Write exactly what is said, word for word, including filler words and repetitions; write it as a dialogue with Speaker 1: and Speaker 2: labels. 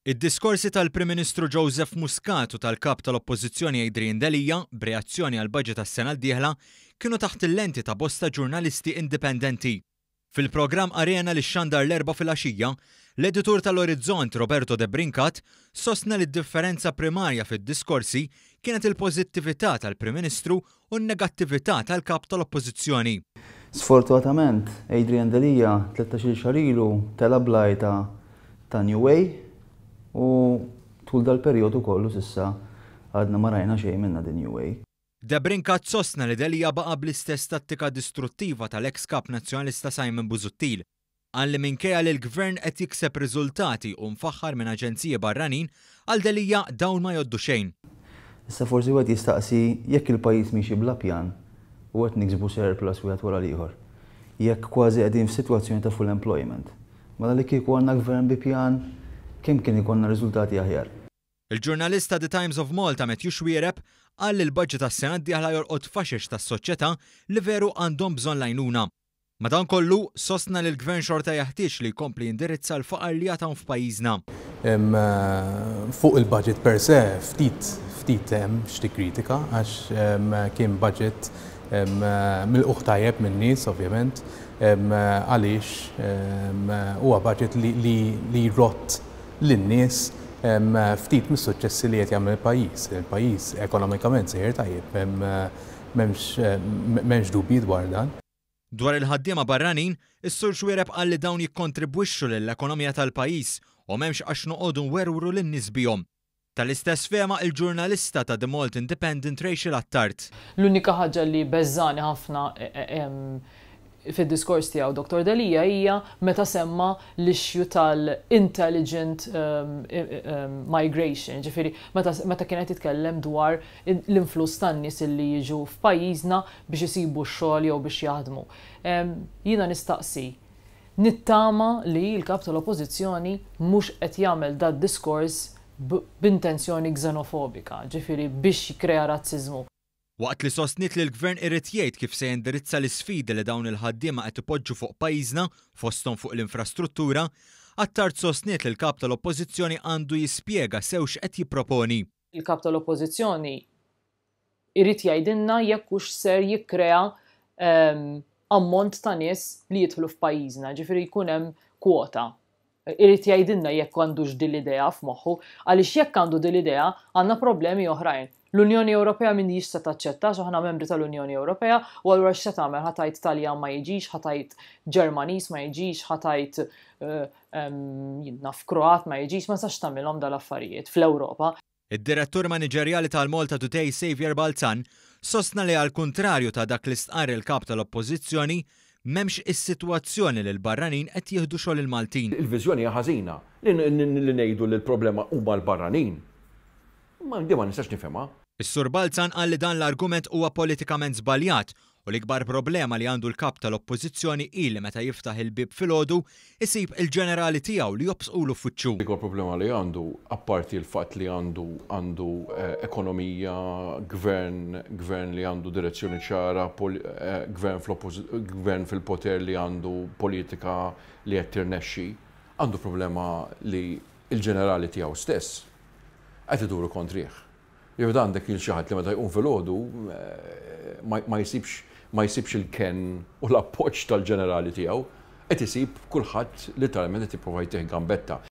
Speaker 1: Id-diskorsi tal-Prim Ministru Joseph Muscat u tal-Kap tal-Oppożizzjoni Adrian Delia b'reazzjoni għall-budget tas-sena d-dieħla kienu taħt il-lenti ta' bosta ġurnalisti indipendenti. Fil-programm Arena li xandar l-Erbgħa filgħaxija, l-editur tal-Orizzont Roberto De Brincat sostna li d-differenza primarja fid-diskorsi kienet il-pożittività tal-Prim Ministru u n-negattività tal-Kap tal-Oppożizzjoni.
Speaker 2: Sfortunatament, Adrian Delia tlettax-il xahar ilu tela' bl-għajta ta' New Way u tul dal-perjodu kollu s'issa għadna ma rajna xejn minna din New Way.
Speaker 1: De Brincat sostna li Delia baqa' bl-istess tattika distruttiva tal-ex kap nazzjonalista Simon Busuttil. Qal li minkejja li l-gvern qed jikseb riżultati u mfaħħar minn aġenziji barranin, għal Delia dawn ma jgħoddu xejn.
Speaker 2: Issa forsi wieħed jistaqsi jekk il-pajjiż miexi bla pjan u qed niksbu surplus wieħed wara l-ieħor. Jekk kważi qegħdin f'sitwazzjoni ta' full employment. Mela li kieku għandna gvern bi pjan, kemm kien ikollna riżultati aħjar.
Speaker 1: Il-ġurnalista The Times of Malta Matthew Xuereb qal li l-budget tas-sena d-dieħla jolqot faxex tas-soċjetà li veru għandhom bżonn l-għajnuna. Madankollu, sostna li l-gvern xorta jeħtieġ li jkompli jindirizza l-faqar li għad hawn f'pajjiżna.
Speaker 3: Fuq il-budget per se, ftit ftit hemm x'tikkritika għax kien budget milqugħ tajjeb min-nies ovvjament, għaliex huwa budget li jrodd lin-nies ftit mis-suċċessi li qed jagħmel il-pajjiż. Il-pajjiż ekonomikament sejjer tajjeb, m'hemmx dubji dwar dan.
Speaker 1: Dwar il-ħaddiema barranin, is-Sur Xuereb qal li dawn jikkontribwixxu lill-ekonomija tal-pajjiż u m'hemmx għax noqogħdu nwerwru lin-nies bihom. Tal-istess fehma il-ġurnalista ta' The Malta Independent Rachel Attard.
Speaker 4: L-unika ħaġa li beżżagħni ħafna fid-diskors tiegħu Doktor Delia hija meta semma l-issue tal-intelligent um, um, migration, ġifieri meta, meta kienet jitkellem dwar l-influss tan-nies li jiġu f'pajjiżna biex isibu x-xogħol jew biex jaħdmu. Um, jiena nistaqsi, nittama li l-kap tal-Oppożizzjoni mhux qed jagħmel dad-diskors b'intenzjoni xenofobika, ġifieri biex jikkrea razziżmu.
Speaker 1: Waqt li sostniet li l-gvern irid jgħid kif se jindirizza l-isfidi li dawn il-ħaddiema qed ipoġġu fuq pajjiżna fosthom fuq l-infrastruttura, Attard sostniet li l-kap tal-Oppożizzjoni għandu jispjega sew x'qed jipproponi.
Speaker 4: Il-kap tal-Oppożizzjoni irid jgħidilna jekk hux ser jikkrea ehm, ammont ta' nies li jidħlu f'pajjiżna, ġifieri jkun hemm kwota. Irid jgħidilna jekk għandux din l-idea f'moħħu, għaliex jekk għandu din l-idea għandna problemi oħrajn. L-Unjoni Ewropea mhijiex se taċċetta, għax aħna membri tal-Unjoni Ewropea, u allura x'se tagħmel? Ħa tgħid Taljan ma jiġix, ħa tgħid Ġermaniż ma jiġix, ħa tgħid eh, naf Kroat ma jiġix, ma sax tagħmilhom dal-affarijiet fl-Ewropa.
Speaker 1: Id-direttur maniġerjali tal-Malta Today Xavier Balzan sostna li għal kontrarju ta' dak li stqarr il-kap tal-Oppożizzjoni, m'hemmx is-sitwazzjoni li l-barranin qed jieħdu xogħol il-Maltin.
Speaker 5: Il-viżjoni hija ħażina li ngħidu li l-problema huma l-barranin. Ma di ma nistax nifhimha.
Speaker 1: Is-Sur Balzan qal li dan l-argument huwa politikament żbaljat u l-ikbar problema li għandu l-kap tal-Oppożizzjoni hi li meta jiftaħ il-bib filgħodu isib il-ġenerali tiegħu li jobsqulu f'wiċċu.
Speaker 5: L-ikbar problema li għandu, apparti l-fatt li għandu għandu eh, ekonomija, gvern, gvern li għandu direzzjoni ċara, eh, gvern, gvern fil-poter li għandu politika li qed tirnexxi, għandu problema li il-ġenerali tiegħu stess qed iduru kontrih. Jew għandek lil xi ħadd li meta jqum filgħodu eh, ma jsibx ma jsibx il-ken u l-appoġġ tal-ġenerali tiegħu, qed isib kulħadd literalment qed jipprova jtih gambetta.